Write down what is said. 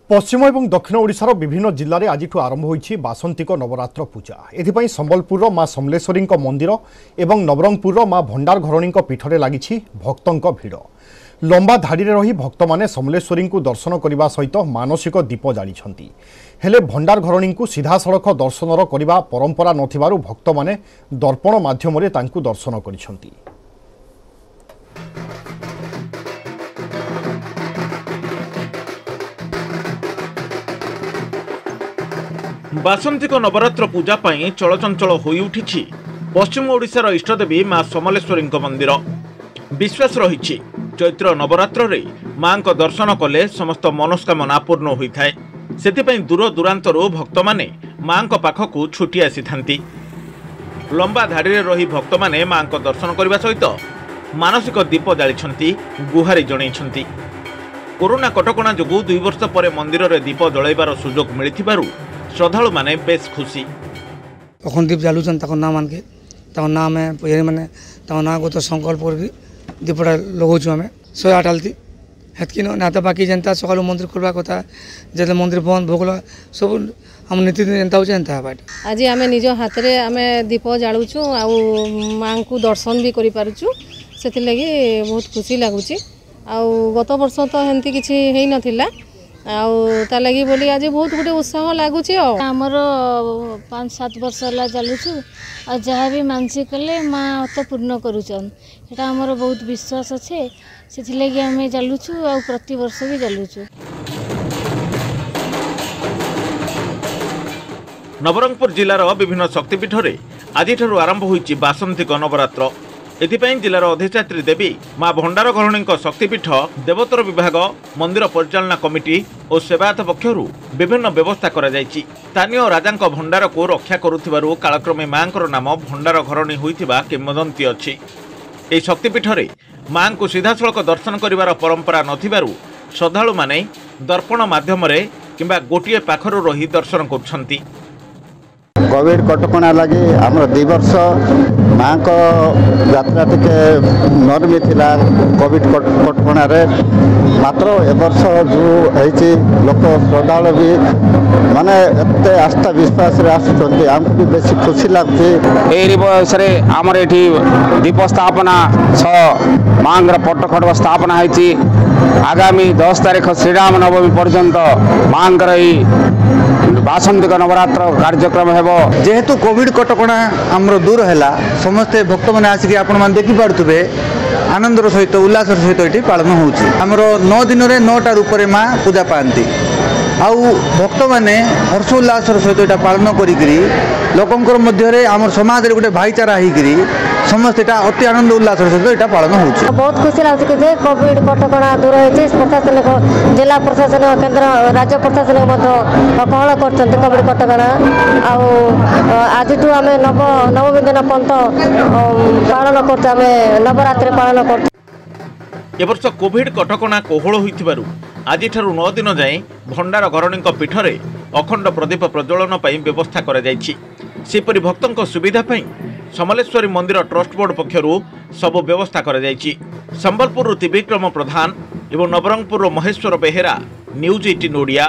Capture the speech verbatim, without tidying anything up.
ପଶ୍ଚିମ ଏବଂ ଦକ୍ଷିଣ ଓଡ଼ିଶାର ବିଭିନ୍ନ ଜିଲ୍ଲାରେ ଆଜିଠୁ ଆରମ୍ଭ ହୋଇଛି ବାସନ୍ତିକ ନବରାତ୍ର ପୂଜା। ଏଥିପାଇଁ ସମ୍ବଲପୁରର ମା ସମଲେଶ୍ୱରୀଙ୍କ ମନ୍ଦିର ଏବଂ ନବରଙ୍ଗପୁରର ମା ଭଣ୍ଡାର ଘରଣୀଙ୍କ ପୀଠରେ ଲାଗିଛି ଭକ୍ତଙ୍କ ଭିଡ଼। ଲମ୍ବା ଧାଡ଼ିରେ ରହି ଭକ୍ତମାନେ ସମଲେଶ୍ୱରୀଙ୍କୁ ଦର୍ଶନ କରିବା ସହିତ ମାନସିକ ଦୀପ ଜାଳିଛନ୍ତି। ହେଲେ ଭଣ୍ଡାର ଘରଣୀଙ୍କୁ ସିଧାସଳଖ ଦର୍ଶନର କରିବା ପରମ୍ପରା ନଥିବାରୁ ଭକ୍ତମାନେ ଦର୍ପଣ ମାଧ୍ୟମରେ ତାଙ୍କୁ ଦର୍ଶନ କରିଛନ୍ତି। ବାସନ୍ତିକ ନବରାତ୍ର ପୂଜା ପାଇଁ ଚଳଚଞ୍ଚଳ ହୋଇଉଠିଛି ପଶ୍ଚିମ ଓଡ଼ିଶାର ଇଷ୍ଟଦେବୀ ମା ସମଲେଶ୍ୱରୀଙ୍କ ମନ୍ଦିର। ବିଶ୍ୱାସ ରହିଛି ଚୈତ୍ର ନବରାତ୍ରରେ ମାଙ୍କ ଦର୍ଶନ କଲେ ସମସ୍ତ ମନସ୍କାମନା ପୂର୍ଣ୍ଣ ହୋଇଥାଏ। ସେଥିପାଇଁ ଦୂର ଦୂରାନ୍ତରୁ ଭକ୍ତମାନେ ମାଙ୍କ ପାଖକୁ ଛୁଟି ଆସିଥାନ୍ତି। ଲମ୍ବା ଧାଡ଼ିରେ ରହି ଭକ୍ତମାନେ ମାଙ୍କ ଦର୍ଶନ କରିବା ସହିତ ମାନସିକ ଦୀପ ଜାଳିଛନ୍ତି, ଗୁହାରି ଜଣାଇଛନ୍ତି। କରୋନା କଟକଣା ଯୋଗୁଁ ଦୁଇ ବର୍ଷ ପରେ ମନ୍ଦିରରେ ଦୀପ ଜଳାଇବାର ସୁଯୋଗ ମିଳିଥିବାରୁ ଶ୍ରଦ୍ଧାଳୁମାନେ ବେଶ ଖୁସି। ଅଖଣ୍ଡ ଦୀପ ଜାଲୁଛନ୍ ତାଙ୍କ ନାଁ ମାନକେ, ତାଙ୍କ ନାଁ ଆମେ ପୂଜାରୀ ମାନେ ତାଙ୍କ ନାଁ ଗୋତ ସଂକଳ୍ପ କରିକି ଦୀପଟା ଲଗାଉଛୁ ଆମେ ଶହେ ଆଠ ଆଳତି ହେତ୍କି ନ ନା ତ ବାକି ଯେନ୍ତା ସକାଳୁ ମନ୍ଦିର ଖୋଲବା କଥା, ଯେତେ ମନ୍ଦିର ବନ୍ଦ ଭୋଗ ସବୁ ଆମ ନୀତିଦିନ ଯେନ୍ତା ହଉଛେ ହେନ୍ତା ହେବା। ଆଜି ଆମେ ନିଜ ହାତରେ ଆମେ ଦୀପ ଜାଳୁଛୁ ଆଉ ମାଆଙ୍କୁ ଦର୍ଶନ ବି କରିପାରୁଛୁ, ସେଥିଲାଗି ବହୁତ ଖୁସି ଲାଗୁଛି। ଆଉ ଗତ ବର୍ଷ ତ ହେନ୍ତି କିଛି ହେଇନଥିଲା, ଆଉ ତା ଲାଗି ବୋଲି ଆଜି ବହୁତ ଗୋଟେ ଉତ୍ସାହ ଲାଗୁଛି। ଆଉ ଆମର ପାଞ୍ଚ ସାତ ବର୍ଷ ହେଲା ଚାଲୁଛୁ, ଆଉ ଯାହା ବି ମାନସିକ କଲେ ମା ତ ପୂର୍ଣ୍ଣ କରୁଛନ୍, ସେଟା ଆମର ବହୁତ ବିଶ୍ୱାସ ଅଛି, ସେଥିଲାଗି ଆମେ ଚାଲୁଛୁ ଆଉ ପ୍ରତିବର୍ଷ ବି ଚାଲୁଛୁ। ନବରଙ୍ଗପୁର ଜିଲ୍ଲାର ବିଭିନ୍ନ ଶକ୍ତିପୀଠରେ ଆଜିଠାରୁ ଆରମ୍ଭ ହୋଇଛି ବାସନ୍ତିକ ନବରାତ୍ର। ଏଥିପାଇଁ ଜିଲ୍ଲାର ଅଧିଷ୍ଠାତ୍ରୀ ଦେବୀ ମା ଭଣ୍ଡାର ଘରଣୀଙ୍କ ଶକ୍ତିପୀଠ, ଦେବୋତ୍ତର ବିଭାଗ, ମନ୍ଦିର ପରିଚାଳନା କମିଟି ଓ ସେବାୟତ ପକ୍ଷରୁ ବିଭିନ୍ନ ବ୍ୟବସ୍ଥା କରାଯାଇଛି। ସ୍ଥାନୀୟ ରାଜାଙ୍କ ଭଣ୍ଡାରକୁ ରକ୍ଷା କରୁଥିବାରୁ କାଳକ୍ରମେ ମାଙ୍କର ନାମ ଭଣ୍ଡାର ଘରଣୀ ହୋଇଥିବା କିମ୍ବଦନ୍ତୀ ଅଛି। ଏହି ଶକ୍ତିପୀଠରେ ମାଙ୍କୁ ସିଧାସଳଖ ଦର୍ଶନ କରିବାର ପରମ୍ପରା ନଥିବାରୁ ଶ୍ରଦ୍ଧାଳୁମାନେ ଦର୍ପଣ ମାଧ୍ୟମରେ କିମ୍ବା ଗୋଟିଏ ପାଖରୁ ରହି ଦର୍ଶନ କରୁଛନ୍ତି। କୋଭିଡ଼ କଟକଣା ଲାଗି ଆମର ଦୁଇ ବର୍ଷ ମାଆଙ୍କ ଯାତ୍ରା ଟିକେ ନରମି ଥିଲା କୋଭିଡ଼ କଟକଣାରେ। ମାତ୍ର ଏ ବର୍ଷ ଯେଉଁ ହେଇଛି, ଲୋକ ଶ୍ରଦ୍ଧାଳୁ ବି ମାନେ ଏତେ ଆସ୍ଥା ବିଶ୍ୱାସରେ ଆସୁଛନ୍ତି, ଆମକୁ ବି ବେଶୀ ଖୁସି ଲାଗୁଛି। ଏହି ବୟସରେ ଆମର ଏଠି ଦୀପ ସ୍ଥାପନା ସହ ମାଆଙ୍କର ପଟ୍ଟ ଖଡ଼ଗ ସ୍ଥାପନା ହେଇଛି। ଆଗାମୀ ଦଶ ତାରିଖ ଶ୍ରୀରାମ ନବମୀ ପର୍ଯ୍ୟନ୍ତ ମାଆଙ୍କର ଏଇ ବାସନ୍ତିକ ନବରାତ୍ର କାର୍ଯ୍ୟକ୍ରମ ହେବ। ଯେହେତୁ କୋଭିଡ଼ କଟକଣା ଆମର ଦୂର ହେଲା, ସମସ୍ତେ ଭକ୍ତମାନେ ଆସିକି ଆପଣମାନେ ଦେଖିପାରୁଥିବେ ଆନନ୍ଦର ସହିତ ଉଲ୍ଲାସର ସହିତ ଏଠି ପାଳନ ହେଉଛି। ଆମର ନଅ ଦିନରେ ନଅଟା ରୂପରେ ମା ପୂଜା ପାଆନ୍ତି, ଆଉ ଭକ୍ତମାନେ ହର୍ଷ ଉଲ୍ଲାସର ସହିତ ଏଇଟା ପାଳନ କରିକିରି ଲୋକଙ୍କର ମଧ୍ୟରେ ଆମର ସମାଜରେ ଗୋଟେ ଭାଇଚାରା ହେଇକିରି ସମସ୍ତେ ଏଇଟା ଅତି ଆନନ୍ଦ ଉଲ୍ଲାସର ସହିତ ଏଇଟା ପାଳନ ହେଉଛି। ବହୁତ ଖୁସି ଲାଗୁଛି ଯେ କୋଭିଡ଼ କଟକଣା ଦୂର ହେଇଛି। ପ୍ରଶାସନିକ, ଜିଲ୍ଲା ପ୍ରଶାସନ, କେନ୍ଦ୍ର ରାଜ୍ୟ ପ୍ରଶାସନିକ ମଧ୍ୟ କୋହଳ କରିଛନ୍ତି କୋଭିଡ଼ କଟକଣା। ଆଉ ଆଜିଠୁ ଆମେ ନବ ନବମୀ ଦିନ ପନ୍ତ ପାଳନ କରୁଛୁ, ଆମେ ନବରାତ୍ରି ପାଳନ କରୁଛୁ। ଏବର୍ଷ କୋଭିଡ଼ କଟକଣା କୋହଳ ହୋଇଥିବାରୁ ଆଜିଠାରୁ ନଅ ଦିନ ଯାଏଁ ଭଣ୍ଡାର ଘରଣୀଙ୍କ ପୀଠରେ ଅଖଣ୍ଡ ପ୍ରଦୀପ ପ୍ରଜ୍ୱଳନ ପାଇଁ ବ୍ୟବସ୍ଥା କରାଯାଇଛି। ସେହିପରି ଭକ୍ତଙ୍କ ସୁବିଧା ପାଇଁ ସମଲେଶ୍ୱରୀ ମନ୍ଦିର ଟ୍ରଷ୍ଟ ବୋର୍ଡ ପକ୍ଷରୁ ସବୁ ବ୍ୟବସ୍ଥା କରାଯାଇଛି। ସମ୍ବଲପୁରରୁ ତ୍ରିବିକ୍ରମ ପ୍ରଧାନ ଏବଂ ନବରଙ୍ଗପୁରର ମହେଶ୍ୱର ବେହେରା, ନ୍ୟୁଜ୍ ଏଇଟିନ୍ ଓଡ଼ିଆ।